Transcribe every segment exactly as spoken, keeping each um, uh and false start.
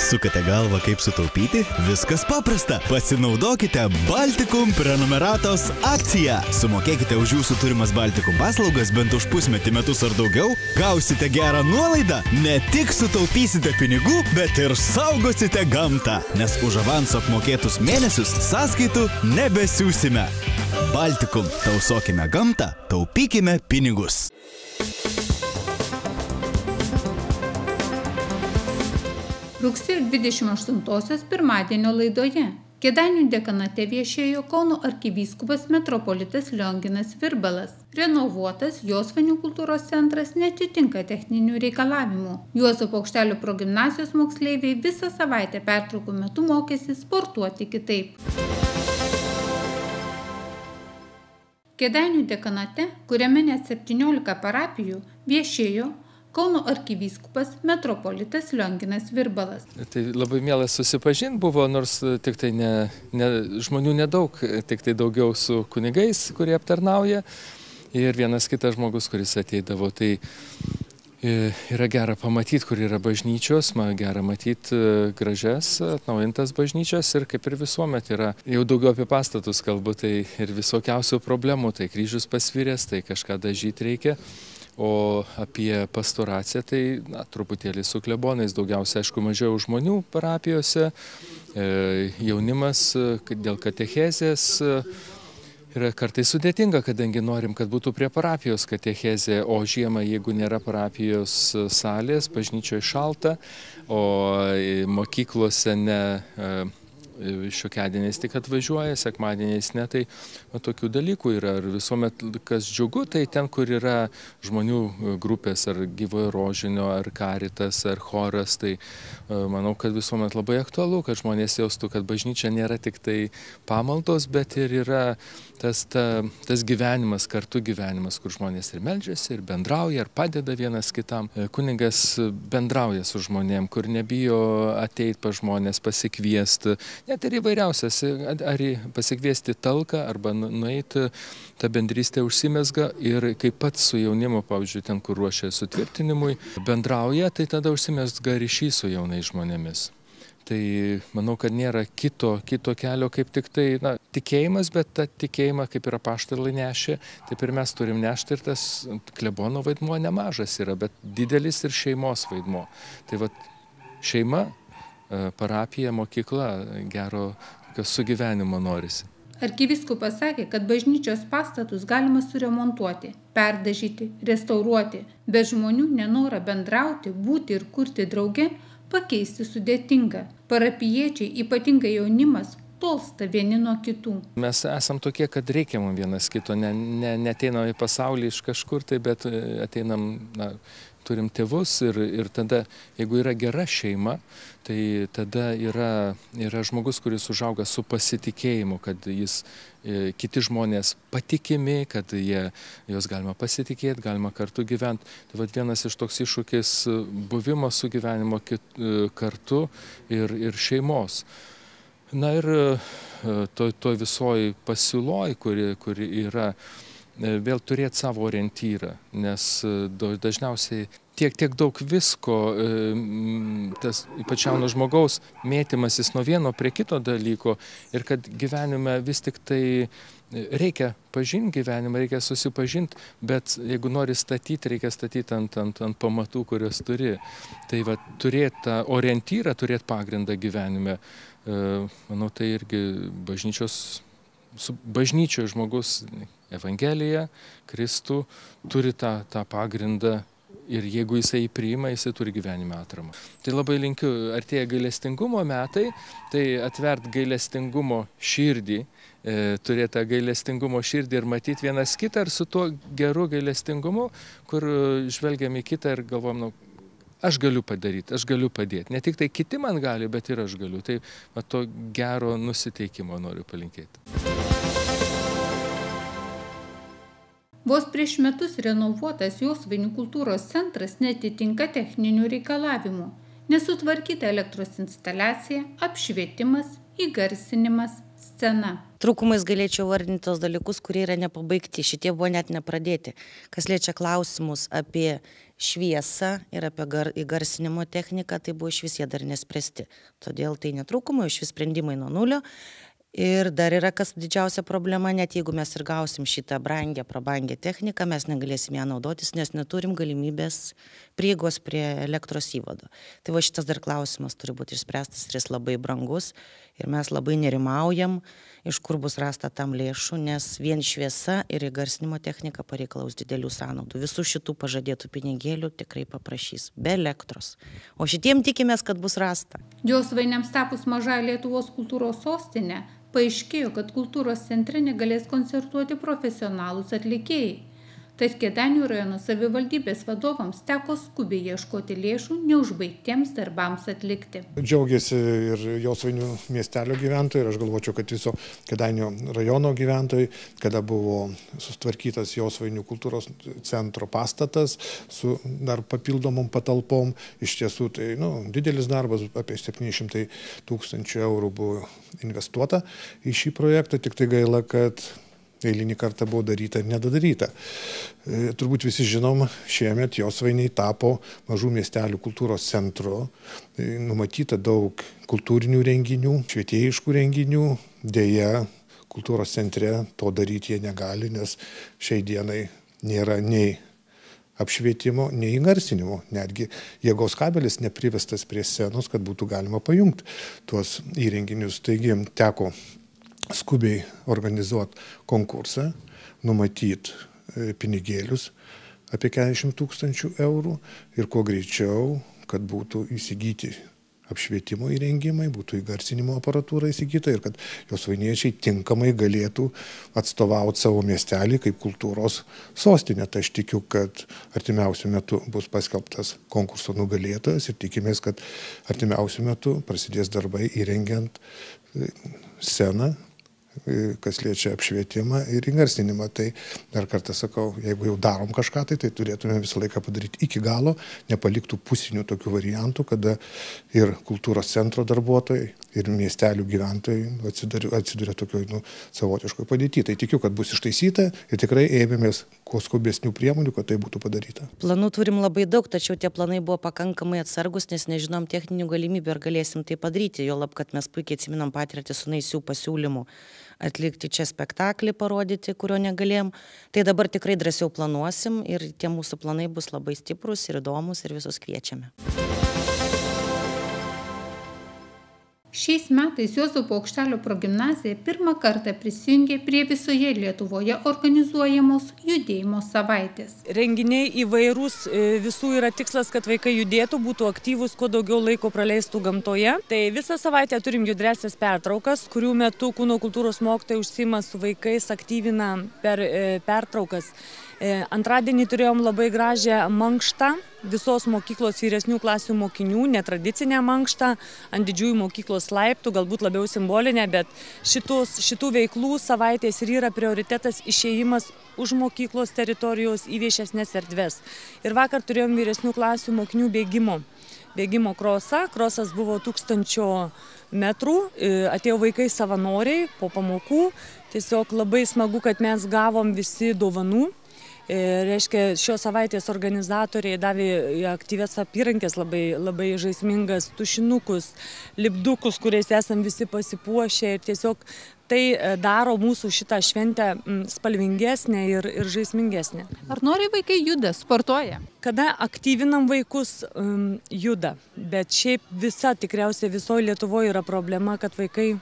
Sukate galvą, kaip sutaupyti? Viskas paprasta. Pasinaudokite Baltikum prenumeratos akciją. Sumokėkite už jūsų turimas Baltikum paslaugas bent už pusmetį, metus ar daugiau. Gausite gerą nuolaidą. Ne tik sutaupysite pinigų, bet ir saugosite gamtą. Nes už avanso apmokėtus mėnesius sąskaitų nebesiūsime. Baltikum. Tausokime gamtą, taupykime pinigus. Rugsėjo dvidešimt aštuntosios pirmadienio laidoje Kėdainių dekanate viešėjo Kauno arkivyskupas metropolitas Lionginas Virbalas. Renovuotas Josvainių kultūros centras neatitinka techninių reikalavimų. Juozo Paukštelio progimnazijos moksleiviai visą savaitę pertraukų metu mokėsi sportuoti kitaip. Kėdainių dekanate, kuriame net septyniolika parapijų, viešėjo Kauno arkivyskupas metropolitas Lionginas Virbalas. Tai labai mielas susipažinti buvo, nors tik tai ne, ne, žmonių nedaug, tik tai daugiau su kunigais, kurie aptarnauja, ir vienas kitas žmogus, kuris ateidavo. Tai yra gera pamatyti, kur yra bažnyčios, man gera matyti gražias, atnaujintas bažnyčias, ir kaip ir visuomet yra, jau daugiau apie pastatus kalbu, tai ir visokiausių problemų, tai kryžius pasviręs, tai kažką dažyti reikia. O apie pastoraciją, tai na, truputėlį su klebonais, daugiausia, aišku, mažiau žmonių parapijose, e, jaunimas dėl katechezės yra kartais sudėtinga, kadangi norim, kad būtų prie parapijos katechezė, o žiemą, jeigu nėra parapijos salės, bažnyčioje šalta, o mokyklose ne... E, šiokiadieniais tik atvažiuoja, sekmadieniais ne, tai va, tokių dalykų yra. Ir visuomet, kas džiugu, tai ten, kur yra žmonių grupės, ar Gyvojo Rožinio, ar Karitas, ar choras, tai manau, kad visuomet labai aktualu, kad žmonės jaustų, kad bažnyčia nėra tik tai pamaldos, bet ir yra tas, ta, tas gyvenimas, kartu gyvenimas, kur žmonės ir meldžiasi, ir bendrauja, ir padeda vienas kitam. Kunigas bendrauja su žmonėm, kur nebijo ateiti pa žmonės, pasikviesti, net ir įvairiausias, ar pasikviesti talką, arba nueiti, ta bendrystė užsimezga, ir kaip pats su jaunimu, pavyzdžiui, ten, kur ruošia sutvirtinimui, bendrauja, tai tada užsimezga ryšys su jaunais žmonėmis. Tai manau, kad nėra kito, kito kelio, kaip tik tai na, tikėjimas, bet tą tikėjimą, kaip ir apaštalai nešė, taip ir mes turim nešti, ir tas klebono vaidmuo nemažas yra, bet didelis ir šeimos vaidmuo. Tai va, šeima, parapija, mokykla, gero sugyvenimo norisi. Arkivyskupas sakė, kad bažnyčios pastatus galima suremontuoti, perdažyti, restauruoti, bet žmonių nenorą bendrauti, būti ir kurti drauge pakeisti sudėtinga. Parapijiečiai, ypatingai jaunimas, tolsta vieni nuo kitų. Mes esam tokie, kad reikia mums vienas kito, ne, ne, neteinam į pasaulį iš kažkur, tai, bet ateinam, na, turim tėvus, ir, ir tada, jeigu yra gera šeima, tai tada yra, yra žmogus, kuris užauga su pasitikėjimu, kad jis, e, kiti žmonės patikimi, kad jie, jos galima pasitikėti, galima kartu gyventi. Tai vat vienas iš toks iššūkis buvimo sugyvenimo kit, kartu ir, ir šeimos. Na ir to, to visoji pasiūloj, kuri, kuri yra, vėl turėti savo orientyrą, nes dažniausiai tiek, tiek daug visko, tas ypač jauno žmogaus mėtymasis nuo vieno prie kito dalyko, ir kad gyvenime vis tik tai reikia pažinti gyvenimą, reikia susipažinti, bet jeigu nori statyti, reikia statyti ant, ant, ant pamatų, kurios turi. Tai va, turėti tą orientyrą, turėti pagrindą gyvenime, manau, tai irgi bažnyčios, su bažnyčioje žmogus Evangelija, Kristų turi tą, tą pagrindą, ir jeigu jisai priima, jisai turi gyvenime atramą. Tai labai linkiu, artėja gailestingumo metai, tai atvert gailestingumo širdį, e, turėti tą gailestingumo širdį ir matyti vienas kitą, ir su tuo geru gailestingumu, kur žvelgiam į kitą ir galvom, nu, aš galiu padaryti, aš galiu padėti. Ne tik tai kiti man gali, bet ir aš galiu. Tai va, to gero nusiteikimo noriu palinkėti. Vos prieš metus renovuotas Josvainių kultūros centras neatitinka techninių reikalavimų. Nesutvarkyta elektros instaliacija, apšvietimas, įgarsinimas, Scena. Trūkumais galėčiau vardinti tos dalykus, kurie yra nepabaigti. Šitie buvo net nepradėti. Kas liečia klausimus apie šviesą ir apie gar, įgarsinimo techniką, tai buvo iš vis jie dar nespręsti. Todėl tai netrūkumai, iš vis sprendimai nuo nulio. Ir dar yra kas didžiausia problema, net jeigu mes ir gausim šitą brangę, prabangę techniką, mes negalėsim ją naudotis, nes neturim galimybės prieigos prie elektros įvado. Tai va šitas dar klausimas turi būti išspręstas ir jis labai brangus ir mes labai nerimaujam, iš kur bus rasta tam lėšų, nes vien šviesa ir įgarsinimo technika pareikalaus didelių sąnaudų. Visų šitų pažadėtų pinigėlių tikrai paprašys, be elektros. O šitiem tikimės, kad bus rasta. Josvainiams tapus maža Lietuvos kultūros sostinė, paaiškėjo, kad kultūros centre negalės koncertuoti profesionalūs atlikėjai. Tad Kėdainių rajono savivaldybės vadovams teko skubiai ieškoti lėšų neužbaigtiems darbams atlikti. Džiaugiasi ir Josvainių miestelio gyventojai ir aš galvočiau, kad viso Kėdainių rajono gyventojai, kada buvo sustvarkytas Josvainių kultūros centro pastatas su dar papildomom patalpom. Iš tiesų tai nu, didelis darbas, apie septyni šimtai tūkstančių eurų buvo investuota į šį projektą, tik tai gaila, kad eilinį kartą buvo daryta ir nedadaryta. E, turbūt visi žinom, šiemet Josvainiai tapo mažų miestelių kultūros centru. E, numatyta daug kultūrinių renginių, švietėjiškų renginių. Deja, kultūros centre to daryti jie negali, nes šiai dienai nėra nei apšvietimo, nei įgarsinimo. Netgi jėgos kabelis neprivestas prie scenos, kad būtų galima pajungti tuos įrenginius. Taigi teko skubiai organizuoti konkursą, numatyti pinigėlius apie keturiasdešimt tūkstančių eurų ir kuo greičiau, kad būtų įsigyti apšvietimo įrengimai, būtų įgarsinimo aparatūra įsigyta ir kad josvainiečiai tinkamai galėtų atstovauti savo miestelį kaip kultūros sostinę. Tai aš tikiu, kad artimiausiu metu bus paskelbtas konkurso nugalėtojas ir tikimės, kad artimiausiu metu prasidės darbai įrengiant sceną, kas liečia apšvietimą ir įgarsinimą. Tai dar kartą sakau, jeigu jau darom kažką, tai, tai turėtume visą laiką padaryti iki galo, nepaliktų pusinių tokių variantų, kada ir kultūros centro darbuotojai, ir miestelių gyventojai atsiduria, atsiduria tokioj nu, savotiškoj padėtyje. Tai tikiu, kad bus ištaisyta ir tikrai ėmėmės kuo skubesnių priemonių, kad tai būtų padaryta. Planų turim labai daug, tačiau tie planai buvo pakankamai atsargus, nes nežinom techninių galimybių, ar galėsim tai padaryti. Jo lab, kad mes puikiai atsiminam patirtį su naisių pasiūlymų atlikti čia spektaklį, parodyti, kurio negalėjom. Tai dabar tikrai drąsiau planuosim ir tie mūsų planai bus labai stiprus ir įdomus ir visus kviečiame. Šiais metais Juozapo Aukštelio progimnazija pirmą kartą prisijungė prie visoje Lietuvoje organizuojamos judėjimo savaitės. Renginiai įvairūs, visų yra tikslas, kad vaikai judėtų, būtų aktyvūs, kuo daugiau laiko praleistų gamtoje. Tai visą savaitę turim judresias pertraukas, kurių metu kūno kultūros mokytojai užsiima su vaikais, aktyvina per pertraukas. Antradienį turėjom labai gražią mankštą visos mokyklos vyresnių klasių mokinių, netradicinę mankštą ant didžiųjų mokyklos laiptų, galbūt labiau simbolinę, bet šitos, šitų veiklų savaitės ir yra prioritetas išėjimas už mokyklos teritorijos į viešesnės erdves. Ir vakar turėjom vyresnių klasių mokinių bėgimo. Bėgimo krosą. Krosas buvo tūkstančio metrų, atėjo vaikai savanoriai po pamokų. Tiesiog labai smagu, kad mes gavom visi dovanų. Reiškia, šios savaitės organizatoriai davė aktyvias apyrankės, labai, labai žaismingas tušinukus, lipdukus, kuriais esam visi pasipuošę ir tiesiog tai daro mūsų šitą šventę spalvingesnę ir, ir žaismingesnę. Ar nori vaikai juda, sportuoja? Kada aktyvinam vaikus, um, juda, bet šiaip visa, tikriausiai visoje Lietuvoje yra problema, kad vaikai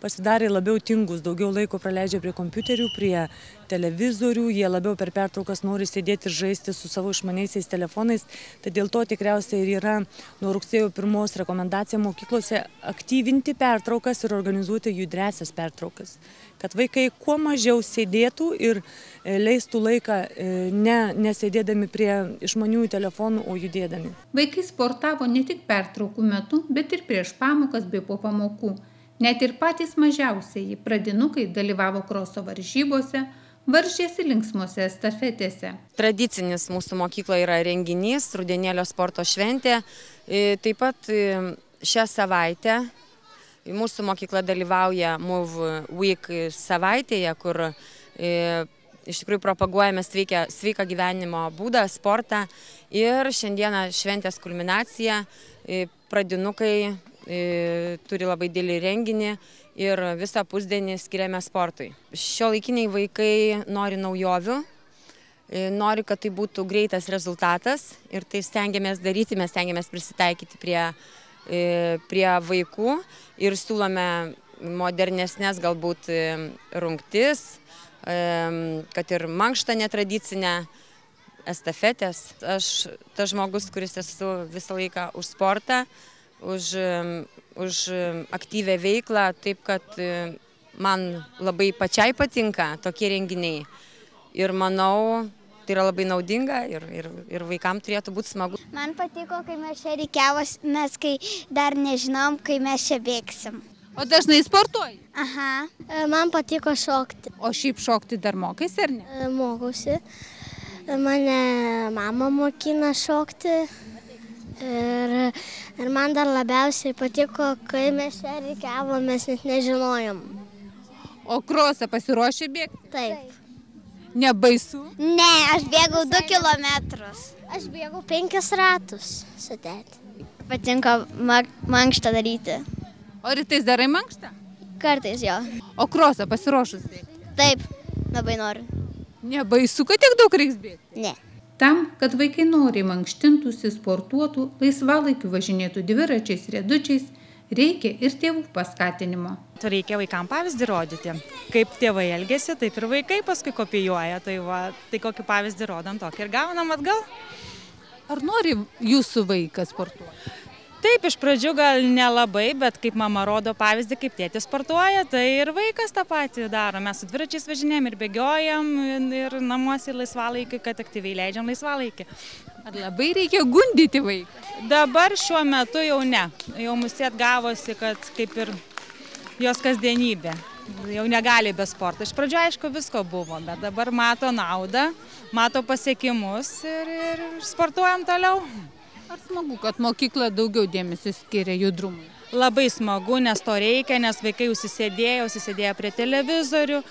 pasidarė labiau tingus, daugiau laiko praleidžia prie kompiuterių, prie televizorių, jie labiau per pertraukas nori sėdėti ir žaisti su savo išmaniaisiais telefonais. Tai dėl to tikriausiai ir yra nuo rugsėjo pirmos rekomendacija mokyklose aktyvinti pertraukas ir organizuoti judresias pertraukas. Kad vaikai kuo mažiau sėdėtų ir leistų laiką ne, nesėdėdami prie išmaniųjų telefonų, o judėdami. Vaikai sportavo ne tik pertraukų metu, bet ir prieš pamokas bei po pamokų. Net ir patys mažiausieji pradinukai dalyvavo kroso varžybose, varžėsi linksmose estafetėse. Tradicinis mūsų mokykloje yra renginys, rudenėlio sporto šventė. Taip pat šią savaitę Mūsų mokykla dalyvauja Move Week savaitėje, kur e, iš tikrųjų propaguojame sveiką, sveiką gyvenimo būdą, sportą. Ir šiandieną šventės kulminacija, e, pradinukai e, turi labai didelį renginį ir visą pusdienį skiriame sportui. Šiuolaikiniai vaikai nori naujovių, e, nori, kad tai būtų greitas rezultatas ir tai stengiamės daryti, mes stengiamės prisitaikyti prie, e, prie vaikų ir siūlome modernesnės galbūt rungtis, kad ir mankštą netradicinę, estafetės. Aš tas žmogus, kuris esu visą laiką už sportą, už, už aktyvę veiklą, taip kad man labai pačiai patinka tokie renginiai. Ir manau, tai yra labai naudinga ir, ir, ir vaikams turėtų būti smagu. Man patiko, kai mes čia reikiavos, mes kai dar nežinom, kai mes čia bėgsim. O dažnai sportuoji? Aha. Man patiko šokti. O šiaip šokti dar mokais ar ne? Mokausi. Mane mama mokina šokti. Ir, ir man dar labiausiai patiko, kai mes čia reikiavomės, net nežinojom. O krosą pasiruošė bėgti? Taip. Nebaisu? Ne, aš bėgau du kilometrus. Aš bėgau penkis ratus su tėti. Patinka mankštą daryti. O rytais darai mankštą? Kartais jo. O krosą pasiruošus bėgti? Taip, labai noriu. Nebaisu, kad tiek daug reiks bėgti? Ne. Tam, kad vaikai noriai mankštintųsi, sportuotų, laisvalaikiu važinėtų dviračiais, riedučiais, reikia ir tėvų paskatinimo. Reikia vaikams pavyzdį rodyti. Kaip tėvai elgesi, taip ir vaikai paskui kopijuoja. Tai, va, tai kokį pavyzdį rodom, tokį ir gaunam atgal. Ar nori jūsų vaikas sportuoti? Taip, iš pradžių gal nelabai, bet kaip mama rodo pavyzdį, kaip tėtis sportuoja, tai ir vaikas tą patį daro. Mes su dviračiais važinėjom ir bėgiojam ir namuose ir laisvalaikį, kad aktyviai leidžiam laisvalaikį. Ar labai reikia gundyti vaiką? Dabar šiuo metu jau ne. Jau mūsų atgavosi, kad kaip ir jos kasdienybė. Jau negali be sporto. Iš pradžių aišku visko buvo, bet dabar mato naudą, mato pasiekimus ir, ir sportuojam toliau. Ar smagu, kad mokykla daugiau dėmesio skiria judrumui? Labai smagu, nes to reikia, nes vaikai užsisėdėjo, užsisėdėjo prie televizorių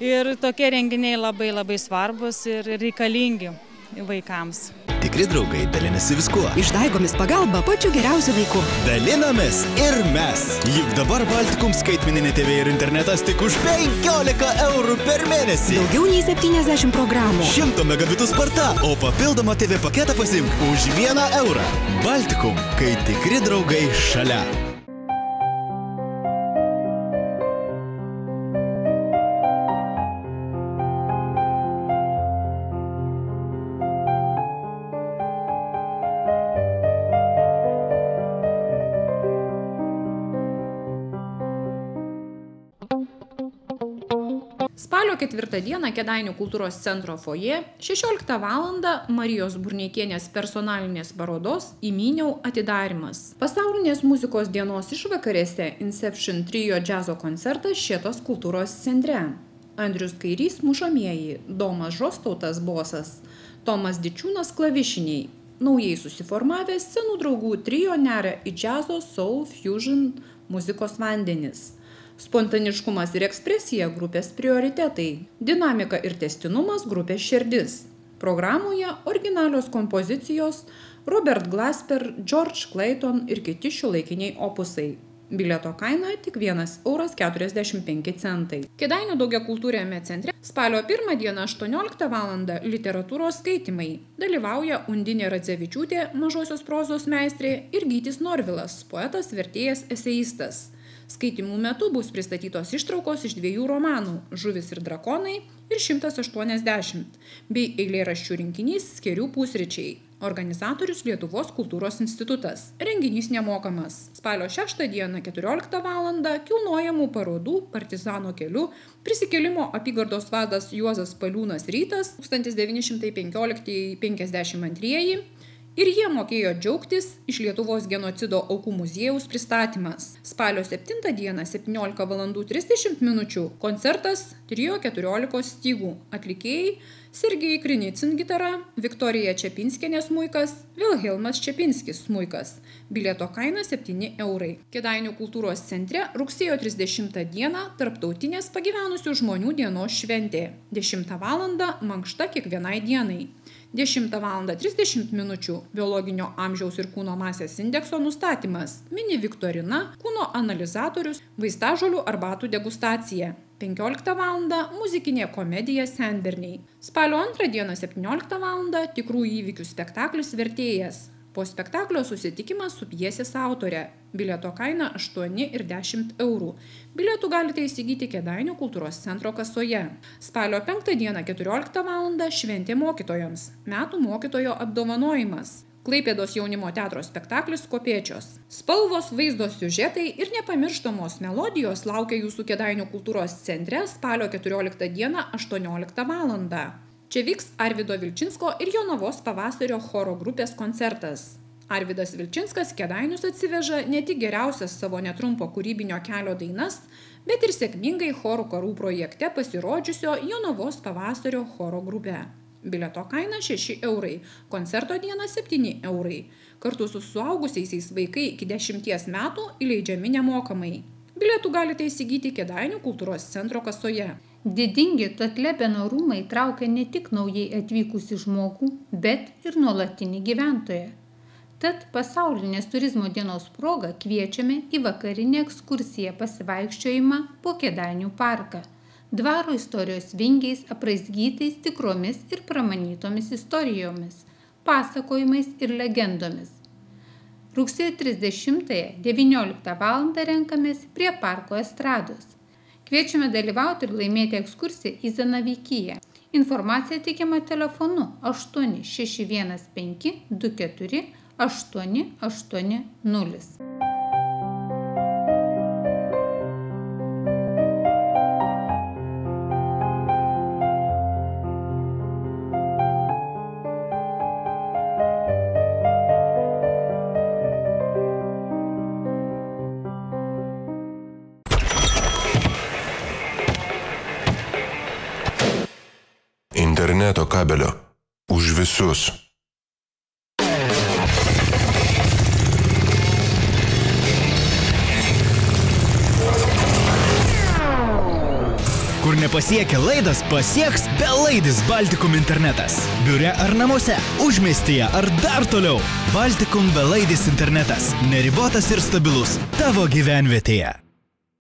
ir tokie renginiai labai labai svarbus ir reikalingi vaikams. Tikri draugai dalinasi viskuo. Išdaigomis pagalba pačiu geriausiu laiku. Dalinamės ir mes. Juk dabar Baltikum skaitmeninė T V ir internetas tik už penkiolika eurų per mėnesį. Daugiau nei septyniasdešimt programų. šimto megabitų sparta, o papildomą T V paketą pasiimk už vieną eurą. Baltikum, kai tikri draugai šalia. Spalio ketvirtą dieną Kėdainių kultūros centro fojė šešioliktą valandą Marijos Burneikienės personalinės parodos Įmyniau atidarymas. Pasaulinės muzikos dienos išvakarėse Inception trio džiazo koncertas Šėtos kultūros centre. Andrius Kairys mušamieji, Domas Žostautas bosas, Tomas Dičiūnas klavišiniai. Naujai susiformavęs scenų draugų trio neria į džiazo, soul, fusion muzikos vandenis. Spontaniškumas ir ekspresija grupės prioritetai, dinamika ir tęstinumas grupės širdis. Programoje originalios kompozicijos Robert Glasper, George Clayton ir kiti šiuolaikiniai opusai. Bilieto kaina tik vienas euras keturiasdešimt penki centai. Kėdainių daugiakultūriame centre spalio pirmą dieną aštuonioliktą valandą literatūros skaitymai. Dalyvauja Undinė Radzevičiūtė, mažosios prozos meistrė, ir Gytis Norvilas, poetas, vertėjas, eseistas. Skaitymų metu bus pristatytos ištraukos iš dviejų romanų Žuvis ir drakonai ir šimtas aštuoniasdešimt, bei eilėraščių rinkinys Skėrių pusryčiai. Organizatorius Lietuvos kultūros institutas. Renginys nemokamas. Spalio šeštą dieną keturioliktą valandą kilnojamų parodų Partizano keliu prisikėlimo apygardos vadas Juozas Paliūnas Rytas tūkstantis devyni šimtai penkioliktieji penkiasdešimt antrieji Ir jie mokėjo džiaugtis iš Lietuvos genocido aukų muziejaus pristatymas. Spalio septintą dieną septyniolika valandų trisdešimt minučių koncertas Trio keturiolikos stygų. Atlikėjai Sergej Krinicin gitara, Viktorija Čepinskienė smuikas, Vilhelmas Čepinskis smuikas. Bilieto kaina septyni eurai. Kėdainių kultūros centre rugsėjo trisdešimtą dieną tarptautinės pagyvenusių žmonių dienos šventė. dešimtą valandą mankšta kiekvienai dienai. dešimtą valandą trisdešimt minučių biologinio amžiaus ir kūno masės indekso nustatymas, mini viktorina, kūno analizatorius, vaistažolių arbatų degustacija. penkioliktą valandą muzikinė komedija Senberniai. Spalio antrą dieną septynioliktą valandą tikrų įvykių spektaklis Vertėjas. Po spektaklio susitikimas su pjesės autore. Bilieto kaina aštuoni ir dešimt eurų. Bilietų galite įsigyti Kėdainių kultūros centro kasoje. Spalio penktą dieną keturioliktą valandą šventė mokytojams. Metų mokytojo apdovanojimas. Klaipėdos jaunimo teatro spektaklis Kopėčios. Spalvos, vaizdo siužetai ir nepamirštamos melodijos laukia jūsų Kėdainių kultūros centre spalio keturioliktą dieną aštuonioliktą valandą. Čia vyks Arvydo Vilčinsko ir Jonavos pavasario choro grupės koncertas. Arvydas Vilčinskas Kėdainius atsiveža ne tik geriausias savo netrumpo kūrybinio kelio dainas, bet ir sėkmingai chorų karų projekte pasirodžiusio Jonavos pavasario choro grupė. Bilieto kaina šeši eurai, koncerto diena septyni eurai. Kartu su suaugusiaisiais vaikai iki dešimties metų įleidžiami nemokamai. Bilietų galite įsigyti Kėdainių kultūros centro kasoje. Didingi Tatlebeno rūmai traukia ne tik naujai atvykusi žmogų, bet ir nuolatinį gyventoją. Tad pasaulinės turizmo dienos proga kviečiame į vakarinę ekskursiją pasivaikščiojimą po Kėdainių parką. Dvaro istorijos vingiais apraizgytais tikromis ir pramanytomis istorijomis, pasakojimais ir legendomis. Rugsėjo trisdešimtąją devynioliktą valandą renkamės prie parko estrados. Kviečiame dalyvauti ir laimėti ekskursiją į Zanavykiją. Informacija teikiama telefonu aštuoni šeši vienas penki du keturi aštuoni aštuoni nulis. Interneto kabelio. Už visus. Kur nepasiekia laidas, pasieks belaidis Baltikum internetas. Biure ar namuose, užmiestyje ar dar toliau. Baltikum belaidis internetas. Neribotas ir stabilus tavo gyvenvietėje.